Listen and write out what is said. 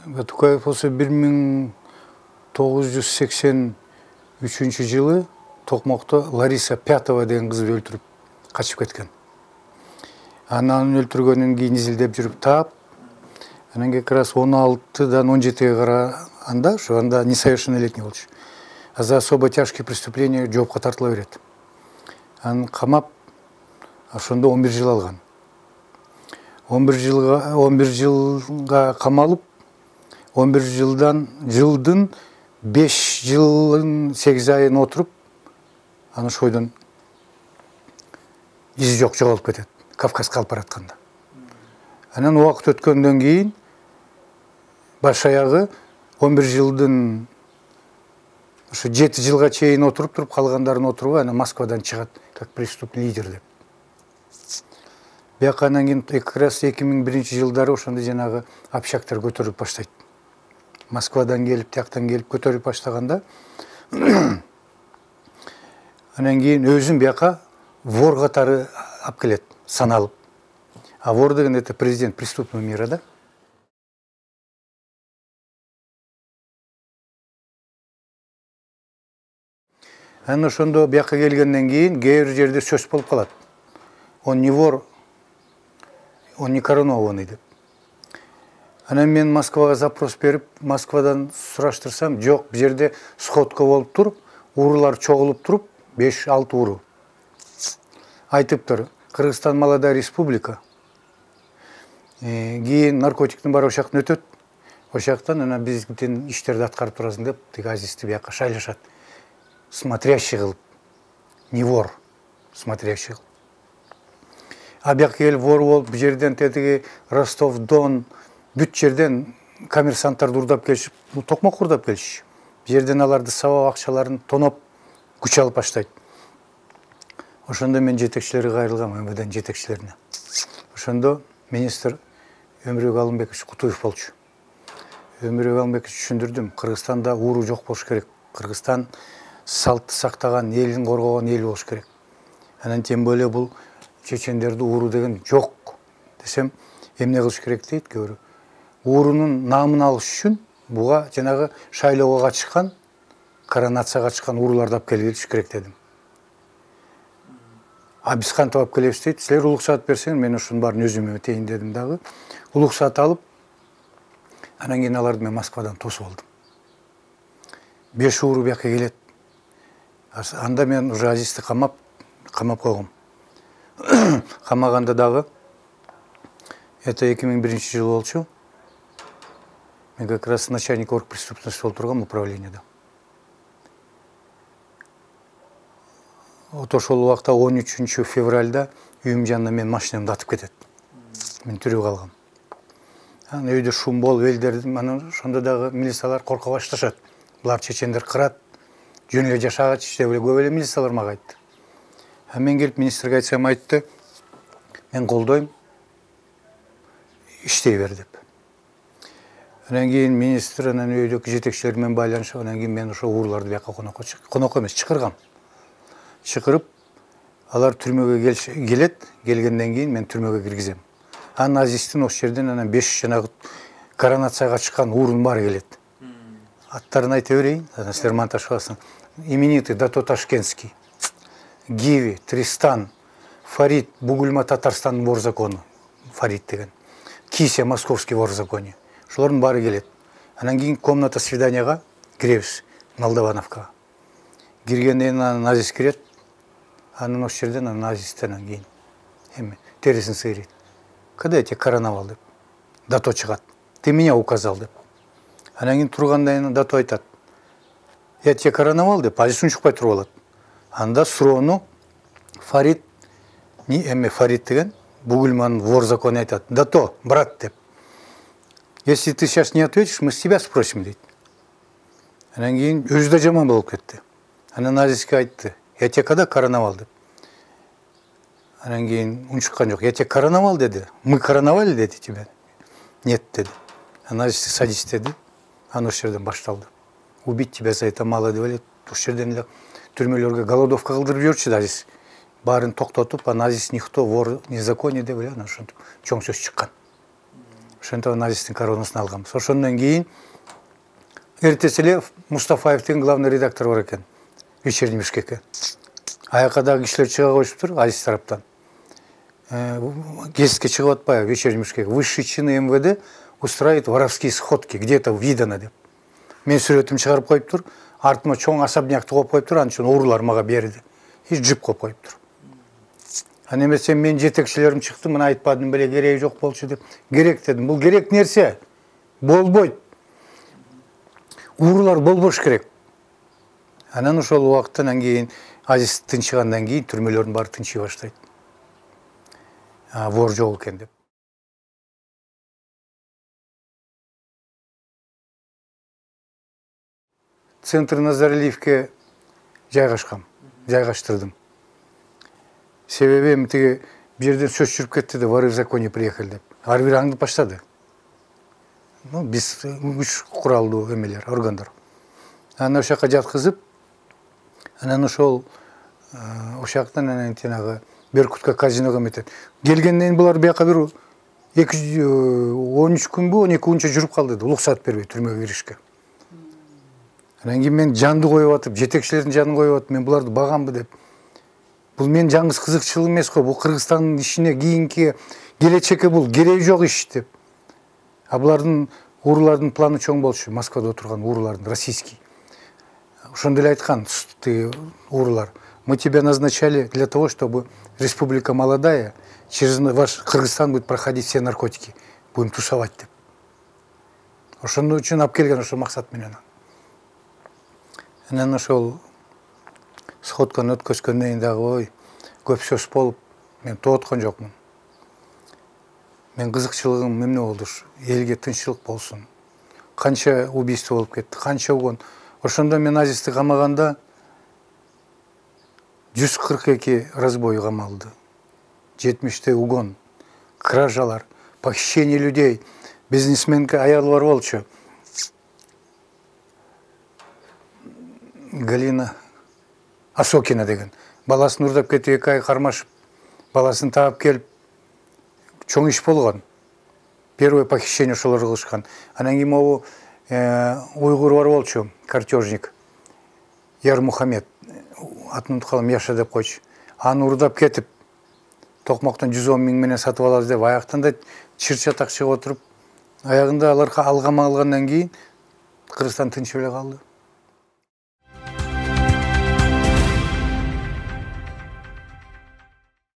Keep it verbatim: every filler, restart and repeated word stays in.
Батукаев болсо бир миң тогуз жүз сексен үчүнчү жылы Токмокто Лариса Пятова деген кызды өлтүрүп качып кеткен. Анан өлтүргөндөн кийин изилдеп жүрүп таап, анан как раз он алтыдан он жетиге караганда ошо анда несовершеннолетний болчу. А за особо тяжкие преступления жоопко тартыла берет. Анан камап, ошондо он бир жыл алган. он бир жылга он бир жылга камалып, он бир жылдан жылдын беш жылын сегиз айын отуруп, анан ошойдон изи жок жоголуп кетет. Кавказга алып баратканда. Анан убакыт өткөндөн кийин баш аягы он бир жылдын ошо жети жылга чейин отуруп туруп, калгандарын отурубай, анан Москвадан чыгат как преступный лидер деп. Бияка анан кийин как раз эки миң биринчи жылдары ошондо жанагы общактар көтөрүлүп баштайт. Москвадан келип, тияктан келип көтөрүлүп баштаганда анан кийин өзүн бияка вор катары алып келет, саналып. А вор деген это президент преступного мира, да? Анан ошондо бияка келгенден кийин кээ бир жерде сөз болуп калат. Он не вор, он не коронованный деп. Анан мен Москвага запрос берип, Москвадан сураштырсам, жок, бу жерде сходка болуп туруп, уруулар чогулуп туруп, беш алты уруу. Айтыптыр, Кыргызстан молодая республика. Кийин наркотиктин баары ошактан өтөт. Ошактан анан биздин иштерди аткарып турасың деп, тиги Азизди бияка шайлашат. Смотрящий кылып. Не вор, смотрящий кылып. А бияка келип вор болуп, бу жерден тетиги Ростов-Дон, бүт жерден коммерсанттарды урдап келишип, бул Токмок урдап келишиши. Бу жерден аларды сабап акчаларын тоноп, күч алып баштайт. Ошондо мен жетекчилерге кайрылгам, эм вэ дэнин жетекчилерине. Ошондо министр Өмүрбек Алымбекович Кутуев болчу. Өмүрбек Алымбекович түшүндүрдүм, Кыргызстанда ууру жок болуш керек. Кыргызстан салтты сактаган, элин коргогон эл болуш керек. Анан тем более бул чечендерди ууру деген жок десем, эмне кылыш керек дейт көрү. Уурунун наамын алыш үчүн буга жанагы шайлоого катышкан, коронацияга катышкан ууруларды алып келиш керек дедим. А биз кантип алып келебиз дейт. Силер улуксаат берсең, мен ошонун баарын өзүм өтейин дедим дагы. Улуксаат алып, анан кийин аларды мен Москвадан тосуп алдым. Беш ууру бияка келет. Анда мен уже Азизди камап, камап койгом. Камаганда дагы, это эки миң биринчи жыл болчу. Мен как раз начальник оргпреступности болуп тургам управленияда. Вот ошол убакта он үчүнчү февралда үйүм жанына мен машинамды атып кетет. Мен тирүү калгам. Анан өйдө шум болуп элдердин, анан ошондо дагы милициялар корко башташат. Булар чечендер кырат, жөн эле жашагачы деп эле көп эле милициялар мага айтты. А мен келип министрге айтсам айтты, мен колдойм, иштей бер деп. Анан кийин министр анан өйдөгү жетекчилер менен байланышып, анан кийин мен ошо ууруларды бияка конокко чык, конокко эмес, чакыргам. Чакырып, алар түрмөгө келет, келгенден кийин мен түрмөгө киргизем. Анан Азиздин ошол жерден анан беш жанагы коронацияга чыккан уурунун баары келет. Аттарын айта берейин, анан силер монтаж кыласың. Именитый Дато Ташкентский, Гиви, Тристан, Фарид, Бугульма Татарстандын вор закону, Фарид деген. Кися, Московский вор законе. Ошолордун баары келет. Анан кийин комната свиданияга киребиз, Молдавановкага. Киргенден кийин анан Азиз кирет. Анан ошол жерден анан Азизден анан кийин эме терисин сыйрыйт. Когда я тебя короновал деп. Дато чыгат. Ты меня указал деп. Анан кийин тургандан кийин Дато айтат. Я тебя короновал деп, Азиз унчукпай туруп алат. Анда суроону Фарид, не эме Фарид деген, Бугульманын вор закону айтат. Дато, брат деп. Если ты сейчас не ответишь, мы с тебя спросим дейт. Анан кийин өзү да жаман болуп кетти. Анан Азизге айтты. Я тебя когда короновал деп. Анан кийин унчуккан жок. Я тебя короновал деди. Мы короновали деди тебя. Нет деди. Анан Азиз садись деди. Анан ошол жерден башталды. Убить тебя за это мало деп эле. Ошол жерден эле түрмөлөргө голодовка кылдырып жиберчү да Азиз. Баарын токтотуп, анан Азиз никто, вор, незаконие деп эле анан ошентип чоң сөз чыккан. ошентип назисттин коронасин алганбыз. Ошондон кийин эртеси эле Мустафаев деген главный редактор бар экен, вечерний Бишкекке. Аяка дагы кишилер чыга коюшуптур Азиз тараптан. Гезитке чыгып атпайбы вечерний Бишкек. Высшие чины эм вэ дэ устраивают воровские сходки, где-то видано деп. Мен сүрөтүм чыгарып коюптур, артыма чоң особнякты коюп коюптур, анын үчүн уруулар мага берди. И джип коюп коюптур. Ана эмесе мен жетекчилерим чыкты, мына айтпадым беле, кереги жок болчу деп. Керек дедим. Бул керек нерсе. Болбойт. Уруулар болбош керек. Анан ошол убакыттан кийин Азиз тынчыгандан кийин түрмөлөрдүн баары тынчый баштайт. А вор жок экен деп. Центр Назаралиевке жайгашкам, жайгаштырдым. Себеби эми тиги бирден сөз жүрүп кетти да, воры в законе приехали деп. Ар бир аңдып баштады. Ну, биз күч куралдуу эмелер, органдар. Анан ошол жака жаткызып, анан ошол ошол жактан анан тиянагы Беркутка казиного метет. Келгенден булар бияка бир он үч күнбү, он эки күнчө жүрүп калды да, уруксат бербей түрмөгө киришке. Анан кийин мен жанды коюп атып, жетекчилердин жанын коюп атып, мен буларды багамбы деп. Бул менин жаңгыз кызыкчылыгым эмес го, бул Кыргызстандын ишине кийинки келечекке бул кереги жок иш деп. А булардын уруулардын планы чоң болчу, Москвада отурган уруулардын российский. Ошондо эле айткан уруулар: мы тебя назначали для того, чтобы республика молодая, через ваш Кыргызстан будет проходить все наркотики, будем тусовать деп. Ошондо үчүн алып келген ошол максат менен. Анан ошол сходканы өткөзгөндөн кийин дагы ой, көп сөз болуп, мен тооткон жокмун. Мен кызыкчылыгым эмне болду? Элге тынччылык болсун. Канча убийство болуп кетти, канча угон. Ошондо мен Азизди камаганда жүз кырк эки разбой камалды. жетимиште угон, кражалар, похищение людей. Бизнесменка аялы бар болчу. Галина Осокина деген. Баласын урдап кетип, эки ай кармашып, баласын таап келип, чоң иш болгон. Первое похищение ошолор кылышкан. Анан кийин могу уйгур бар болчу, картежник. Яр Мухаммед, атын унутуп калдым, Яша деп койчу. Аны урдап кетип, токмоктон жүз он миң менен сатып алабыз деп, аяктан да чыр-чатак чыгып отуруп, аягында алар алгама алгандан кийин Кыргызстан тынчып эле калды.